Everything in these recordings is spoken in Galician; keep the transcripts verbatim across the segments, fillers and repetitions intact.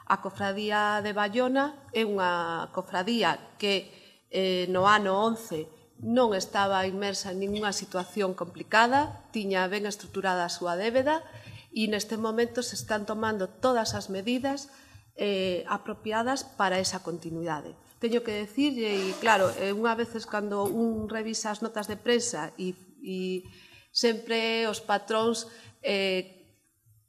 A Cofradía de Baiona é unha cofradía que eh, no ano once non estaba inmersa en ninguna situación complicada, tiña ben estruturada a súa débeda e neste momento se están tomando todas as medidas eh, apropiadas para esa continuidade. Teño que decirlle, e claro, unha veces cando un revisa as notas de prensa e, e sempre os patróns eh,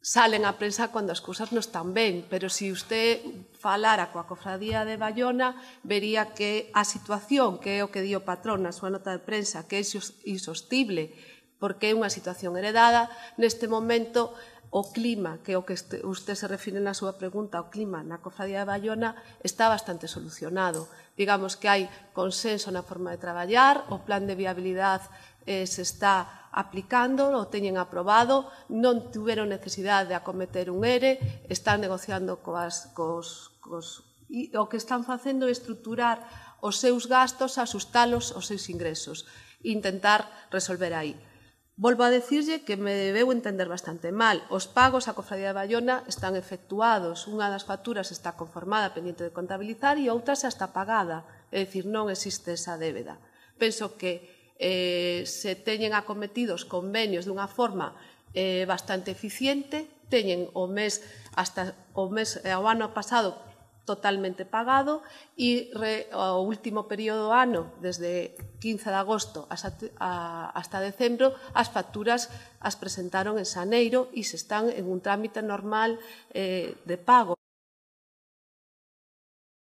salen á prensa cando as cousas non están ben, pero se usted falara coa Cofradía de Baiona, vería que a situación, que é o que di o patrón na súa nota de prensa, que é insostible, porque é unha situación heredada, neste momento o clima, que é o que usted se refire na súa pregunta, o clima na Cofradía de Baiona está bastante solucionado. Digamos que hai consenso na forma de traballar, o plan de viabilidade eh, se está aplicando, o teñen aprobado, non tiveron necesidade de acometer un E R E, están negociando coas, cos, cos, e o que están facendo é estruturar os seus gastos, asustalos aos seus ingresos e intentar resolver aí. Volvo a decirlle que me debeu entender bastante mal. Os pagos á Cofradía de Baiona están efectuados. Unha das facturas está conformada, pendiente de contabilizar, e outra xa está pagada. É dicir, non existe esa débeda. Penso que eh, se teñen acometidos convenios dunha forma eh, bastante eficiente, teñen o mes hasta o mes ao ano pasado totalmente pagado e re, o último período do ano, desde quince de agosto hasta, a, hasta decembro, as facturas as presentaron en xaneiro e se están en un trámite normal eh, de pago.